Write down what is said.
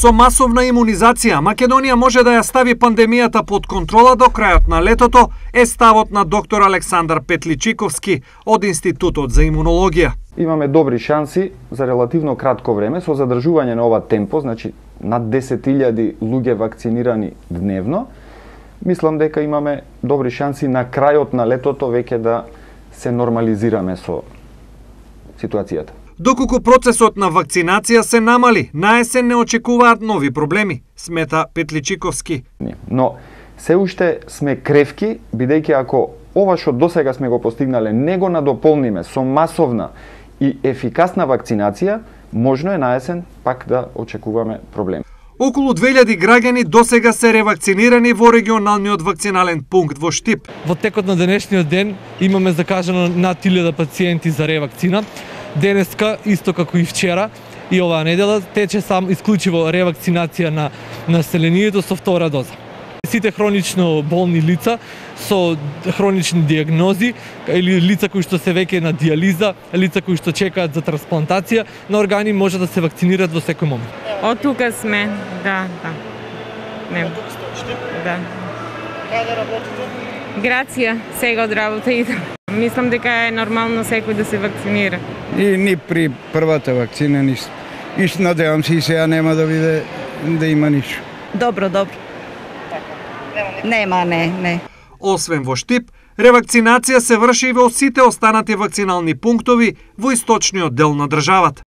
Со масовна имунизација, Македонија може да ја стави пандемијата под контрола до крајот на летото, е ставот на доктор Александар Петличиковски од Институтот за имунологија. Имаме добри шанси за релативно кратко време со задржување на ова темпо, значи над 10.000 луѓе вакцинирани дневно. Мислам дека имаме добри шанси на крајот на летото веќе да се нормализираме со ситуацијата. Доколку процесот на вакцинација се намали, на есен не очекуваат нови проблеми, смета Петличиковски. Но се уште сме кревки, бидејќи ако ова што досега сме го постигнале не го надополниме со масовна и ефикасна вакцинација, можно е на есен пак да очекуваме проблем. Околу 2000 граѓани досега се ревакцинирани во регионалниот вакцинален пункт во Штип. Во текот на денешниот ден имаме закажано над 1000 пациенти за ревакцина. Денеска, исто како и вчера и оваа недела, тече сам исклучиво ревакцинација на населението со втора доза. Сите хронично болни лица со хронични диагнози или лица кои што се веќе на диализа, лица кои што чекаат за трансплантација на органи може да се вакцинираат во секој момент. Од тука сме, да. Не. Да. Каде работите? Грација, сега од работа идам. Мислам дека е нормално секој да се вакцинира. И ни при првата вакцина ништо. И надевам се и сега нема да биде да има ништо. Добро. Нема, не. Освен во Штип, ревакцинација се врши и во сите останати вакцинални пунктови во источниот дел на државата.